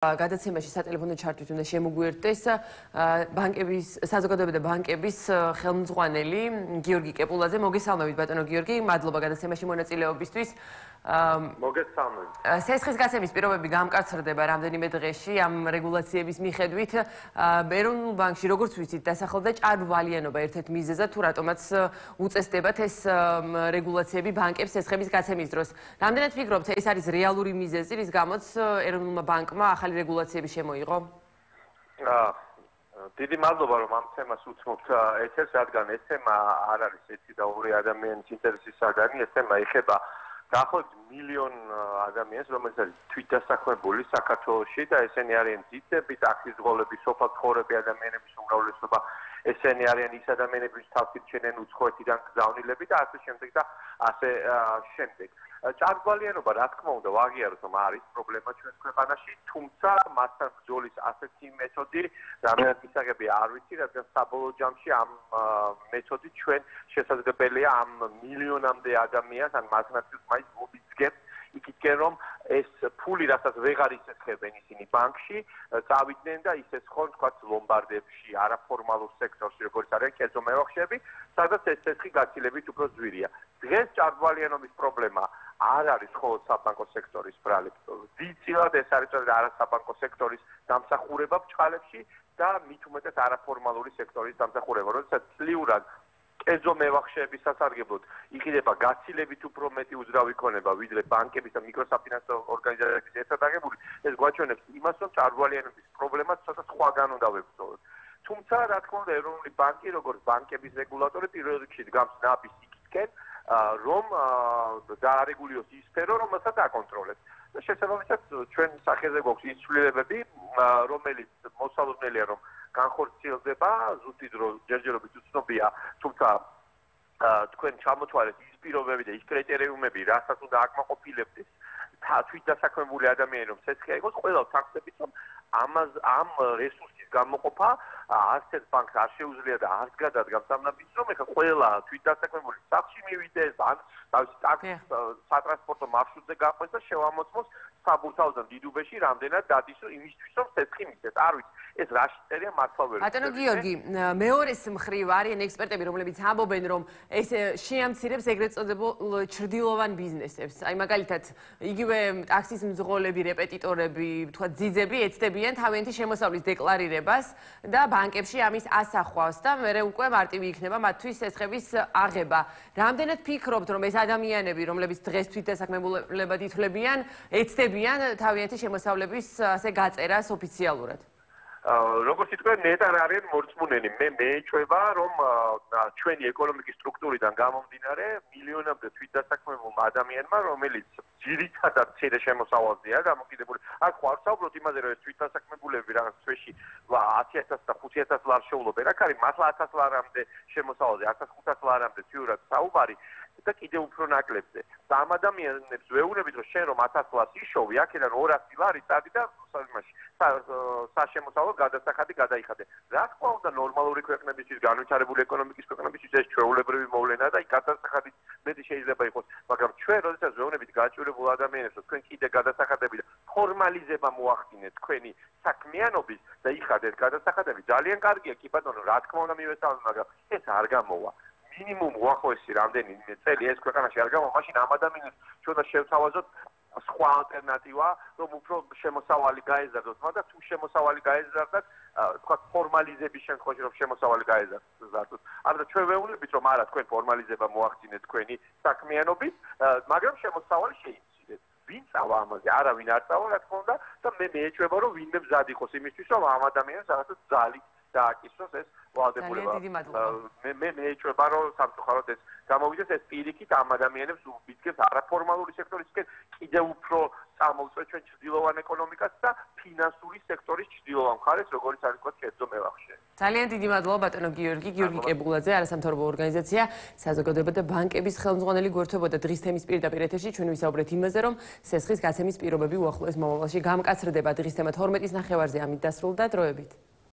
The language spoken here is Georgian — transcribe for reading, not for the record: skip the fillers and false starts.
გადაცემაში სატელეფონო ჩართვით უნდა შემოგვიერთდეს საზოგადოება და ბანკების ხელმძღვანელი გიორგი კეპულაძე. მოგესალმებით ბატონო გიორგი, მადლობა გადაცემაში მონაწილეობისთვის. მოგესალმებით. სესხის გაცემის პირობები გამკაცრდება რამდენიმე დღეში ამ რეგულაციების მიხედვით. ეროვნულ ბანკში როგორც ვიცით დასახელდა ჭარბვალიანობა ერთ-ერთ მიზეზად, თუ რატომაც უწესდებათ ეს რეგულაციები ბანკებს სესხების გაცემის დროს. რამდენად ფიქრობთ, ეს არის რეალური მიზეზი, რის გამოც ეროვნულმა ბანკმა ახალი რეგულაციები შემოიღო? დიდი მადლობა რომ ამ თემას უცნობთ ეთერს, რადგან ეს თემა არ არის ერთი და ორი ადამიანის ინტერესის საგანი, ეს თემა ეხება დაახლოებით მილიონ ადამიანს, რომელიც არის თვითდასაქმებული საქართველოში და ესენი არიან ძირითადად ტაქსისღოლები, სოფლმცხოვრები ადამიანების უმრავლესობა, ესენი არიან ის ადამიანები, ვინც თავს ირჩენენ უცხოეთიდან გზავნილები და ასე შემდეგ და ასე შემდეგ. ჭარბვალიანობა, რა თქმა უნდა, ვაღიაროთ, რომ არის პრობლემა ჩვენს ქვეყანაში, თუმცა მასთან ბრძოლის ასეთი მეთოდი რამდენად ისაღები არ ვიცი, რადგან საბოლოო ჯამში ამ მეთოდით ჩვენ შესაძლებელია ამ მილიონამდე ადამიანს ან მასნაცილს მაინც მოვიძგებთ იქითკენ, რომ ეს ფული, რასაც ვეღარ ისესხებენ ისინი ბანკში, წავიდნენ და ისესხონ, თქვათ, ლომბარდებში, არაფორმალურ სექტორში, როგორც არის კერძო მევახშეები, სადაც ეს სესხი გაცილებით უფრო ძვირია. დღეს ჭარბვალიანობის პრობლემა არ არის მხოლოდ საბანკო სექტორის ბრალებს. დიდწილად ეს არის არასაბანკო სექტორის დამსახურება ბჭყალებში და მით უმეტეს არაფორმალური სექტორის დამსახურება, როდესაც წლიურად კერძო მევახშეების სასარგებლოდ იყიდება გაცილებით უფრო მეტი უძრავი ქონება, ვიდრე ბანკების და მიკროსაფინანსო ორგანიზაციების ერთად აღებული, ეს გვაჩვენებს იმას, რომ ჭარბვალიანობის პრობლემას ცოტა სხვაგან უნდა ვებრძოლოთ. თუმცა, რა თქმა უნდა, ეროვნული ბანკი, როგორც ბანკების რეგულატორი, პირველ რიგში დგამს ნაბის იქითკენ, რომ დაარეგულიროს ის სფერო, რომელსაც აკონტროლებს. შესაბამისად, ჩვენ სახეზე გვაქვს ის ცვლილებები, რომელიც მოსალოდნელია, რომ განხორციელდება, ზუსტი დრო ჯერჯერობით უცნობია, თუმცა თქვენ ჩამოთვალეთ ის პირობები და ის კრიტერიუმები, რასაც უნდა აკმაყოფილებდეს თვითდასაქმებული ადამიანი, რომ სესხი აიღოს, ყველა ვთანხმდებით, რომ ამ რესურსის გამოყოფა არც ერთ ბანკს არ შეუძლია და არც გადადგამს ამ ნაბიჯს, რომ ეხლა ყველა თვითდასაქმებული სახლში მივიდეს, ან თავისი ტაქსის სატრანსპორტო მარშრუტზე გაყვეს და შევამოწმოს საბურთალოდან დიდუბეში რამდენად დადის იმისთვის, რომ სესხი მისცეს. არ ვიცი, ეს რაში წერია მართლა ვერ. ბატონო გიორგი, მეორეს მხრივ არიან ექსპერტები, რომლებიც ამბობენ, რომ ეს შეამცირებს ეგრეთ წოდებულ ჩრდილოვან ბიზნესებს. აი მაგალითად, იგივე ტაქსის მძღოლები, რეპეტიტორები, თქვა ძიძები ეცდებიან თავიანთი შემოსავლის დეკლარირებას და ბანკებში ამის ასახვას და მერე უკვე მარტივი იქნება მათთვის სესხების აღება. რამდენად ფიქრობთ, რომ ეს ადამიანები, რომლებიც დღეს თვითდასაქმებულებად ითვლებიან, ეცდებიან თავიანთი შემოსავლების ასე გაწერას ოფიციალურად? როგორც იტყვიან, ნეტარ არიან მორწმუნენი. მე მეეჩვევა, რომ ჩვენი ეკონომიკის სტრუქტურიდან გამომდინარე, მილიონამდე თვითდასაქმებულმა ადამიანმა, რომელიც ძირითადად მცირე შემოსავალზეა დამოკიდებული. აქ ხო არ ვსაუბრობთ იმაზე, რომ ეს თვითდასაქმებულები რაღაც თვეში 10,000 და 5,000 ლარს შეულობენ. აქ არის მართლა 1000 ლარამდე შემოსავალზე, 1500 ლარამდე ცივად საუბარი და კიდევ უფრო ნაკლებზე. და ამ ადამიანებს ვეუბნებით, რომ შენ რომ 1000 ლარს იშოვი, აქედან 200 ლარი წადი და საშემოსავლო გადასახადი გადაიხადე. რა თქმა უნდა, ნორმალური ქვეყნებისთვის, განვითარებული ეკონომიკის ქვეყნებისთვის ეს ჩვეულებრივი მოვლენა და იქ გადასახადი მეტი შეიძლება იყოს, მაგრამ ჩვენ როდესაც ვეუბნებით გაჭირებულ ადამიანებს, რომ თქვენ კიდე გადასახადები და ფორმალიზება მოახდინეთ თქვენი საქმიანობის და იხადეთ გადასახადები, ძალიან კარგია, კი ბატონო, რა თქმა უნდა მივესალმებ, მაგრამ ეს არ გამოვა. მინიმუმ უახლოესი რამდენიმე წელი ეს ქვეყანაში არ გამოვა, მაშინ ამ ადამიანებს ჩვენ შევთავაზოთ სხვა ალტერნატივა, რომ უფრო შემოსავალი გაეზარდოს, მაგრამ თუ შემოსავალი გაეზარდათ, თქვა ფორმალიზების შემთხვევაში რომ შემოსავალი გაეზარდოს. ამიტომ ჩვენ ვეუბნებით, რომ არა, თქვენ ფორმალიზება მოახდინეთ თქვენი საქმიანობით, მაგრამ შემოსავალი შეიცვლეთ. ვინ წავა ამაზე? არავინ არ წავა, რა თქმა უნდა, და მე მეეჩვევა, რომ ვინმე მზად იყოს იმისთვის, რომ ამ ადამიანს რაღაცა ძალით დააკისროს ეს ვალდებულება. მე მეეჩვევა, რომ სამწუხაროდ ეს გამოვიდეს, ეს პირიქით ამ ადამიანებს უბიძგებს არაფორმალური სექტორისკენ კიდევ უფრო წამოვწვეთ ჩვენ ჩრდილოვან ეკონომიკას და ფინანსური სექტორის ჩრდილოვან მხარეს, როგორც არის თქვა კერძო მევახშე. ძალიან დიდი მადლობა ბატონო გიორგი კეპულაძე, არასამთავრობო ორგანიზაცია საზოგადოება და ბანკების ხელმძღვანელი გვერდებოდა დღის თემის პირდაპირ ეთერში. ჩვენ ვისაუბრეთ იმაზე, რომ სესხის გაცემის პირობები უახლოეს მომავალში გამკაცრდება. დღის თემა 12:00-ის ნახევარზე ამით დასრულდა. დროებით.